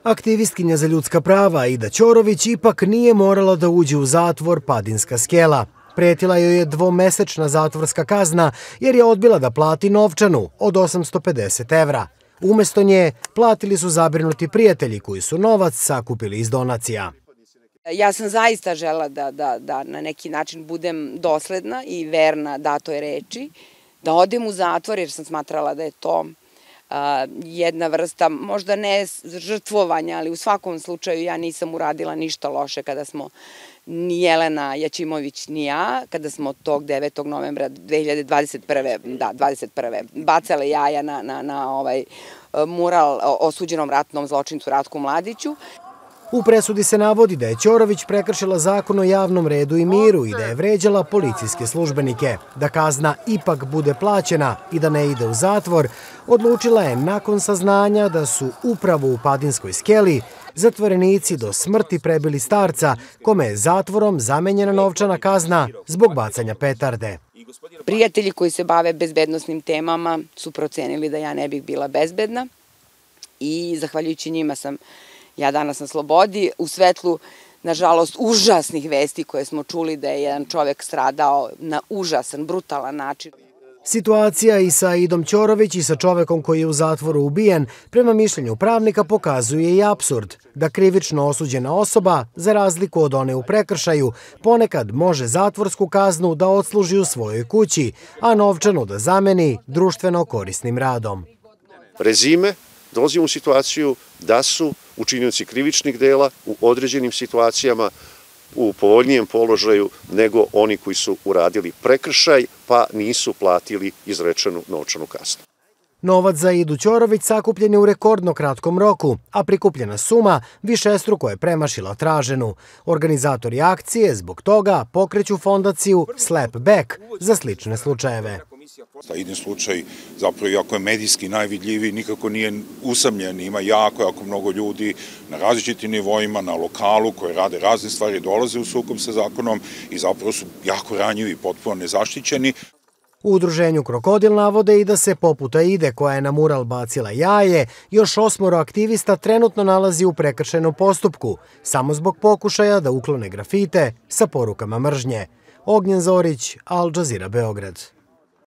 Aktivistkinja za ljudska prava Aida Ćorović ipak nije morala da uđe u zatvor Padinska skela. Pretila joj je dvomesečna zatvorska kazna jer je odbila da plati novčanu od 850 evra. Umesto nje platili su zabrinuti prijatelji koji su novac sakupili iz donacija. Ja sam zaista žela da na neki način budem dosledna i verna datoj reči, da odem u zatvor jer sam smatrala da je to jedna vrsta, možda ne žrtvovanja, ali u svakom slučaju ja nisam uradila ništa loše kada smo ni Jelena Jaćimović ni ja, kada smo tog 9. novembra 2021. bacale jaja na mural osuđenom ratnom zločincu Ratku Mladiću. U presudi se navodi da je Ćorović prekršila zakon o javnom redu i miru i da je vređala policijske službenike. Da kazna ipak bude plaćena i da ne ide u zatvor, odlučila je nakon saznanja da su upravo u Padinskoj skeli zatvorenici do smrti prebili starca kome je zatvorom zamenjena novčana kazna zbog bacanja petarde. Prijatelji koji se bave bezbednosnim temama su procenili da ja ne bih bila bezbedna i zahvaljujući njima sam ja danas na slobodi, u svetlu, nažalost, užasnih vesti koje smo čuli da je jedan čovek stradao na užasan, brutalan način. Situacija i sa Aidom Ćorović i sa čovekom koji je u zatvoru ubijen, prema mišljenju pravnika, pokazuje i apsurd da krivično osuđena osoba, za razliku od one u prekršaju, ponekad može zatvorsku kaznu da odsluži u svojoj kući, a novčanu da zameni društveno korisnim radom. Rezime, dolazimo u situaciju da su učinioci krivičnih dela u određenim situacijama u povoljnijem položaju nego oni koji su uradili prekršaj pa nisu platili izrečenu novčanu kaznu. Novac za Aidu Ćorović sakupljen je u rekordno kratkom roku, a prikupljena suma višestruko je premašila traženu. Organizatori akcije zbog toga pokreću fondaciju Slap Back za slične slučajeve. Aidin slučaj, zapravo, iako je medijski najvidljiviji, nikako nije usamljen. Ima jako mnogo ljudi na različitim nivoima, na lokalu, koji rade razne stvari, dolaze u sukob sa zakonom i zapravo su jako ranjivi, potpuno nezaštićeni. U udruženju Krokodil navode i da se poput Aide, koja je na mural bacila jaje, još 8 aktivista trenutno nalazi u prekršajnom postupku, samo zbog pokušaja da uklone grafite sa porukama mržnje. Ognjen Zorić, Al Jazeera, Beograd.